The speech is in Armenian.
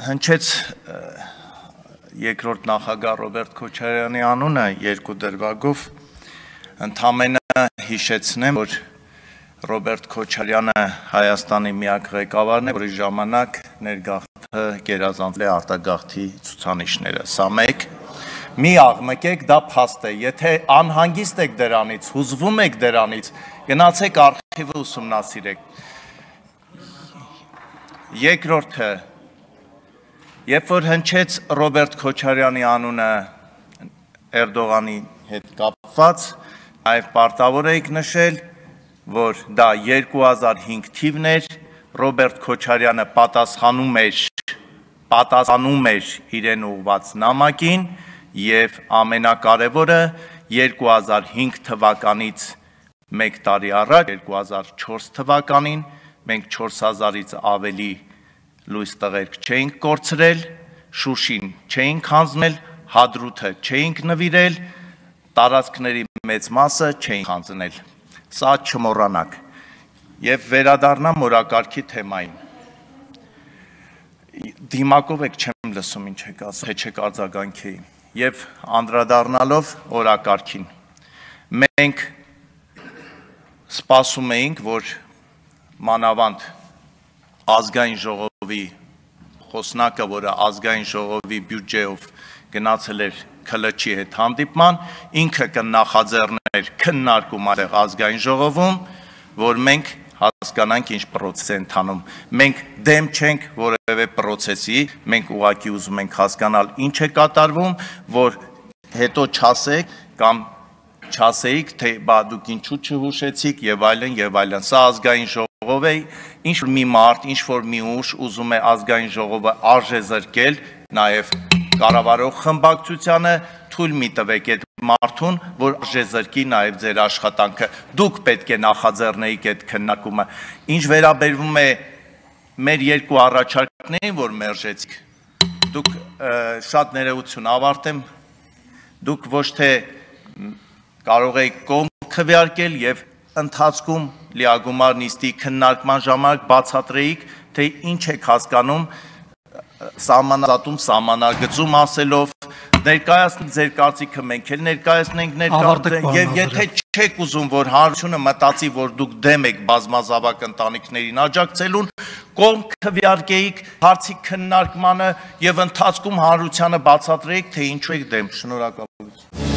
հնչեց երկրորդ նախագահ Ռոբերտ Քոչարյանի անունը երկու դրվագով, ընդամենը հիշեցնեմ, որ Ռոբերտ Քոչարյանը Հայաստանի միակ ղեկավարն է, որի ժամանակ ներգաղթը գերազանցել է արտագաղթի ցուցանիշները։ Սա մեկ, մի աղմկեք, դա փաստ է, եթե անհանգիստ եք դրանից, հուզվում եք դրանից, գնացեք արխիվը ուսումնասիրեք։ Երկրորդը, երբ որ հնչեց Ռոբերտ Քոչարյանի անունը Էրդողանի հետ կապված, այլ պարտավոր էիք նշել, որ դա 2005 թիվն էր, Ռոբերտ Քոչարյանը պատասխանում էր իրեն ուղված նամակին և ամենակարևորը 2005 թվականից մեկ տարի առաջ, 2004 թվականին, մենք 4000-ից ավելի լույս տղերք չէինք կորցրել, Շուշին չէինք հանձնել, Հադրութը չէինք նվիրել, տարածքների մեծ մասը չէինք հանձնել։ Սա չմոռանաք և վերադառնամ օրակարգի թեմային։ Դիմակով եք չեմ լսում ինչ եք ասում, թե չեք արձագանքեի և անդրադառնալով օրակարգին։ Մենք սպասում էինք, որ մանավանդ ազգային ժողովի խոսնակը, որը ազգային ժողովի բյուջեով գնացել էր ՔԼՉ-ի հետ հանդիպման, ինքը կնախաձեռներ քննարկում այդտեղ ազգային ժողովում, որ մենք հասկանանք ինչ պրոցես է ընթանում։ Մենք դեմ չենք որևէ պրոցեսի, մենք ուղղակի ուզում ենք հասկանալ ինչ է կատարվում, որ հետո չասեք կամ չասեիք, թե բա դուք ինչու չհուշեցիք եւ այլն եւ այլն։ Սա ազգային ժողով է, ինչ որ մի մարդ, ինչ որ մի ուժ ուզում է ազգային ժողովը արժեզրկել, նաեւ կառավարող խմբակցությանը, թույլ մի տվեք այդ մարդուն, որ արժեզրկի նաեւ ձեր աշխատանքը։ Դուք պետք է նախաձեռնեիք այդ քննարկումը։ Ինչ վերաբերվում է մեր երկու առաջարկներին, որ մերժեցիք, դուք շատ ներողություն ավարտեմ, դուք ոչ թե կարող եք կողմ քվեարկել եւ ընթացքում լիագումար նիստի քննարկման ժամանակ բացատրեիք, թե ինչ եք հասկանում սահմանազատում, սահմանագծում ասելով, ներկայացնեք ձեր կարծիքը, մենք էլ ներկայացնենք եւ եթե չեք ուզում, որ հանրությունը մտածի, որ դուք դեմ եք բազմազավակ ընտանիքներին աջակցելուն, կողմ քվեարկեիք հարցի քննարկմանը եւ ընթացքում հանրությանը բացատրեիք, թե ինչու եք դեմ։ Շնորհակալություն։